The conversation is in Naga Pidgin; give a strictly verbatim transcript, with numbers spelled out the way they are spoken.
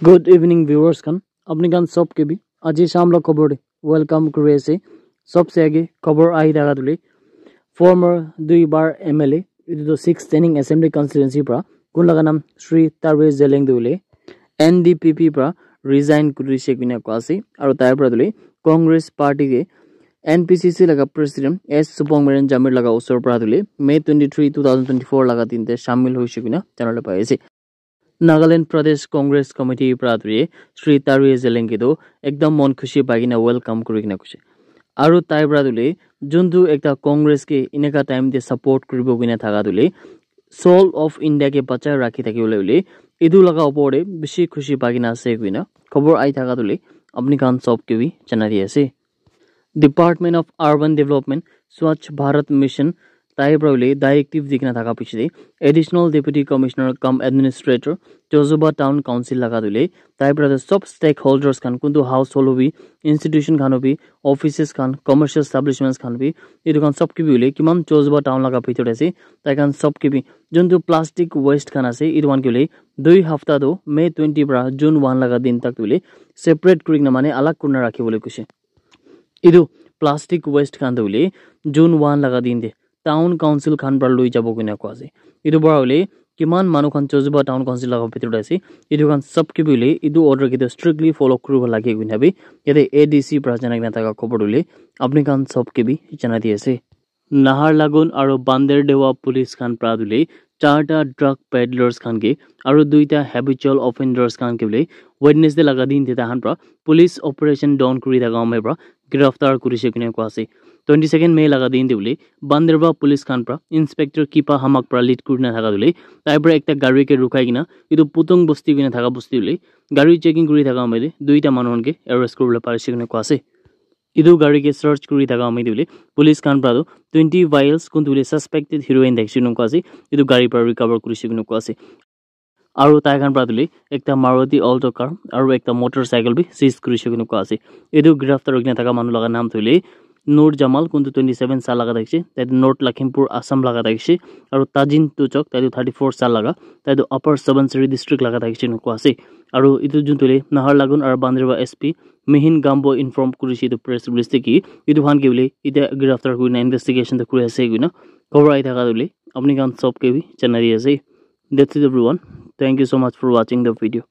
Good evening, viewers khan. Apni khan sob ke bhi aji sham la khobor de welcome kuri ase. Sob se age khobor ahi thaka tule former dui bar M L A, itu to six standing assembly constituency pra, kun laga nam Shri Tarwe Zeliang tu le N D P P pra resign kuri se kina kwa ase. Aru tai pra tule Congress party ke N P C C laga president S Supong Meren Jamir laga usor pra tule May twenty-three, two thousand twenty-four laga din te shamil hoise kina janale pai ase. Nagaland Pradesh Congress Committee pra tule Shri Tarwe Zeliang ke tu ekdam mon khushi pai kina welcome kuri kina kuse. Aru tai pra tule juntu ekta Congress ke ineka time te support kuribo kina thaka tule soul of India ke bachai rakhi thaki bole bole itu laga upor te bishi khushi pai kina ase kuina khobor ahi thaka tule apni khan sob ke bhi janai di ase. Department of Urban Development Swachh Bharat Mission tai pra hule directive dikena thaka piche de Additional Deputy Commissioner cum Administrator Chozuba Town Council laga tule tai pra de sob stakeholders khan kuntu household hobi, institution khan hobi, offices khan, commercial establishments khan hobi, itu khan sob ke bhi hule kiman Chozuba Town laga bhitor de ase tai khan sob ke bhi juntu plastic waste khan ase itu khan ke hule dui hafta tu May twenty pra June one laga din tak tu hule separate kuri kena mane alag kurina rakhi bole kuse. Itu plastic waste khan tu hule June one laga din de town council khan pra lui jabo kina kwa ase. Itu pra hule kiman manu khan Chozuba town council laga bhitor de ase itu khan sob ke bhi hule itu order ke tu strictly follow kuribo lage kina bhi yate A D C pra janai kena thaka khobor hule apni khan sob ke bhi janai di ase. Naharlagun aru Banderdewa police khan pra tule charta drug peddlers khan ke aru duita habitual offenders khan ke bole Wednesday laga din te tahan pra police operation don kuri thaka amai pra giraftar kurise kine kua ase. Twenty second May laga din te bole Banderwa police khan pra Inspector Kipa Hamak pra lead kurina thaka tule tai pra ekta gari ke rukhai kena itu Putung bosti kina thaka bosti tule gari checking kuri thaka amai te duita manu khan ke arrest kuribole parise kine kua ase. Itu gari ke search kuri thaka amai tule police khan pra tu twenty vials kuntu le suspected heroin dekhise koi ase itu gari pra recover kurise koi ase. Aru tai khan pra tule ekta Maruti Alto car aru ekta motorcycle bi seize kurise koi ase. Itu giraftar hoikena thaka manu laga naam tule Nur Jamal kuntu twenty seven sal laga thakise tai tu North Lakhimpur Assam laga thakise aru Tajin Tuchok tai tu thirty four sal laga tai tu Upper Subansiri district laga thakise koi ase. Aru itu juntu le Naharlagun aru Banderwa S P Mihin Gambo inform kurise itu press release te ki itu khan ke bole ite giraftar kurina investigation te kuri ase koina khobor ahi thaka tule apni khan sob ke bhi janai di ase. That's it everyone. Thank you so much for watching the video.